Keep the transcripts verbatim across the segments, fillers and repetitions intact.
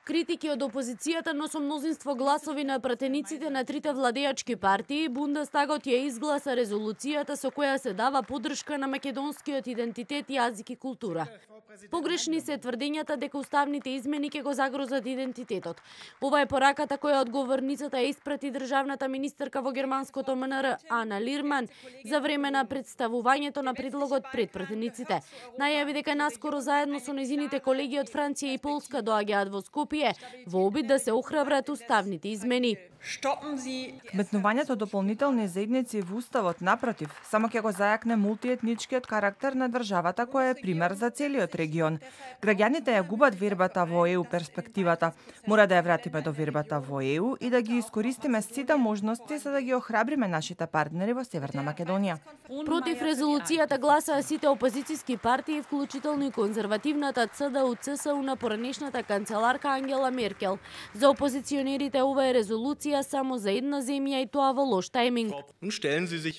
критики од опозицијата, но со мнозинство гласови на пратениците на трите владеачки партии, Бундестагот ја изгласа резолуцијата со која се дава поддршка на македонскиот идентитет, јазик и култура. Погрешни се тврдењата дека уставните измени ќе го загрозат идентитетот. Ова е пораката која одговорницата ја испрати државната министерка во германското М Н Р Ана Лирман за време на представувањето на предлогот пред пратениците. Најави дека наскоро заедно со нејзините колеги од Франција и Полска доаѓаат во Скопје во обид да се охрабрат уставните измени. Вметнувањето дополнителни заедници во уставот, напротив, само ќе го зајакне мултиетничкиот карактер на државата која е пример за целиот регион. Граѓаните ја губат вербата во Е У перспективата. Мора да ја вратиме до вербата во Е У и да ги искористиме сите можности за да ги охрабриме нашите партнери во Северна Македонија. Против резолуцијата гласаа сите опозицијски партии, вклучително и конзервативната Ц Д У Ц С У на поранешната канцеларка Ангела Меркел. За опозиционерите ова е резолуција само за една земја и тоа во лош тајминг.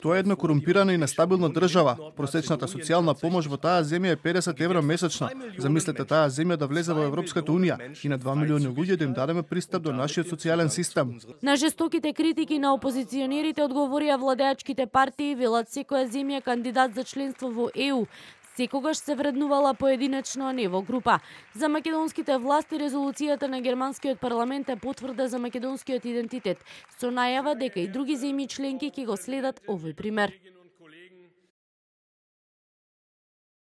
Тоа е една корумпирана и нестабилна држава. Просечната социјална помош во таа земја е педесет евра месечно. Замислете таа земја да влезе во Европската унија и на два милиони луѓе да им дадеме пристап до нашиот социјален систем. На жестоките критики на опозиционерите одговорија владеачките партии, велат секоја земја кандидат за членство во Е У секогаш се вреднувала поединечно, а не во група. За македонските власти резолуцијата на германскиот парламент е потврда за македонскиот идентитет, со најава дека и други земји членки ќе го следат овој пример.